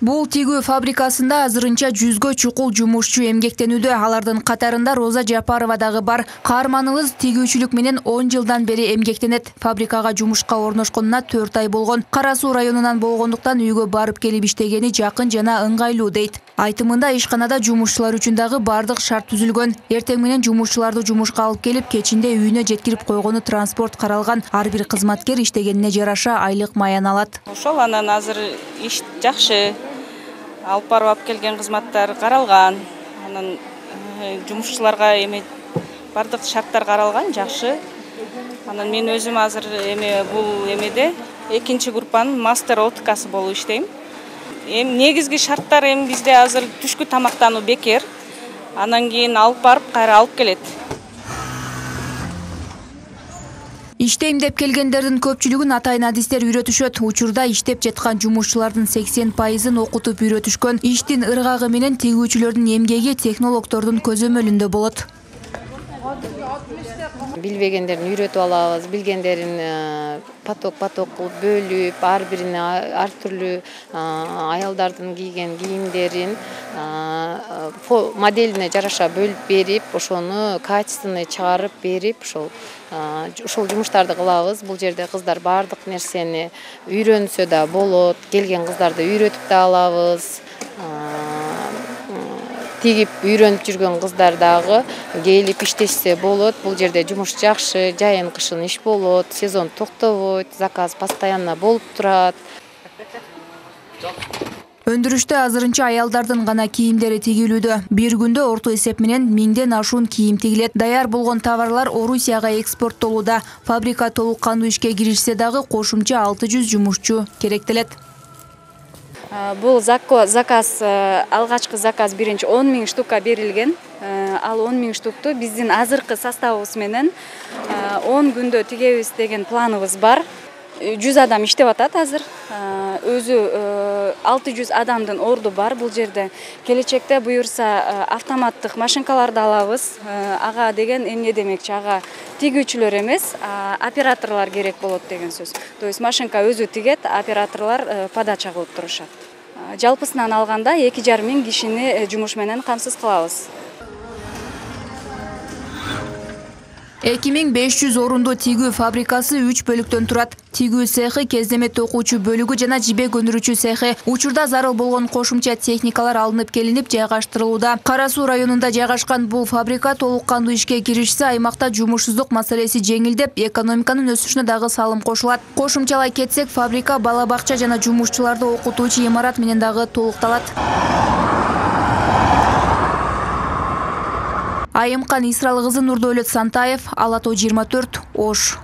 Бул тигүү фабрикасында азырынча 100гө чукул жумушчу эмгектенүүдө. Алардын катарында Роза Жапарова дагы бар. Каарманыбыз тигүүчүлүк менен 10 жылдан бери эмгектенет. Фабрикага жумушка орношконуна 4 ай болгон. Кара Суу районунан болгондуктан үйгө барып келип иштегени жакын жана ыңгайлуу дейт. Айтымында ишканада жумушчулар үчүн дагы бардык шарт түзүлгөн. Эртең менен жумушчуларды жумушка алып келип, кечинде үйүнө жеткирип койгону транспорт каралган. Ар бир кызматкер иштегенине жараша айлык маян алат. Ошол анан азыр иш жакшы. Алып барып алып келген кызматтар каралган. Анан жумушчуларга бардык шарттар каралган, жакшы. Анан мен өзүм азыр бул эмеде экинчи группанын мастер откасы болуп иштейм. Негизги шарттар бизде азыр түшкү тамактануу бекер. Анан кийин алып барып кайра алып келет. Иштейм деп келгендердин көпчүлүгүн атайын адистер үйрөтүшөт. Учурда иштеп жаткан жумушчулардын 80%ын окутуп үйрөтүшкөн. Иштин ыргагы менен тигүүчүлөрдүн эмгеги технологдордун көзөмөлүндө болот. Билбегендерин үйрөтүп алабыз, билгендерин поток кылып бөлүп, ар бирине ар түрлүү аялдардын кийген кийимдерин моделине жараша бөлүп берип, ошону качественный чыгарып берип, ошол жумуштарды кылабыз. Бул жерде кыздар бардык нерсени үйрөнсө да болот, келген кыздарды үйрөтүп да алабыз. Тигип үйрөнүп жүргөн кыздар дагы келип иштешсе болот. Бул жерде жумуш жакшы, жайын кышын иш болот, сезон токтобойт, заказ постоянно болуп турат. Өндүрүштө азырынча аялдардын гана кийимдери тигилүүдө. Бир күндө орто эсеп менен 1000ден ашуун кийим тигилет. Даяр болгон товарлар Орусияга экспорттолууда. Фабрика толук кандуу ишке киришсе дагы кошумча 600 жумушчу керектелет. Бул заказ, алгачкы заказ биринчи 10 000 штука берилген. Ал 10 000 штукту биздин азыркы составыбыз менен 10 күндө тигебиз деген планыбыз бар. 100 адам иштеп атат азыр. Өзү 600 адамдын орду бар бул жерде. Келечекте буюрса автоматтык машинкаларды алабыз. Ага деген эмне демекчи? Ага тигүүчүлөр эмес, операторлор керек болот деген сөз. То есть машинка өзү тигет, операторлор подача кылып турушат. Жалпысынан алганда 2500 кишини жумуш менен камсыз кылабыз. 2500 орунду тигүү фабрикасы 3 бөлүктөн турат. Тигүү цехи, кездеме токуучу бөлүгү жана жибек өндүрүүчү цехи. Учурда зарыл болгон кошумча техникалар алынып келинип жайгаштырылууда. Кара Суу районунда жайгашкан бул фабрика толук кандуу ишке киришсе, аймакта жумушсуздук маселеси жеңилдеп, экономиканын өсүшүнө дагы салым кошулат. Кошумчалай кетсек, фабрика бала бакча жана жумушчуларды окутуучу имарат менен дагы толукталат. Айымкан Исралы кызы, Нурдөөлөт Сантаев, Ала Тоо 24, Ош.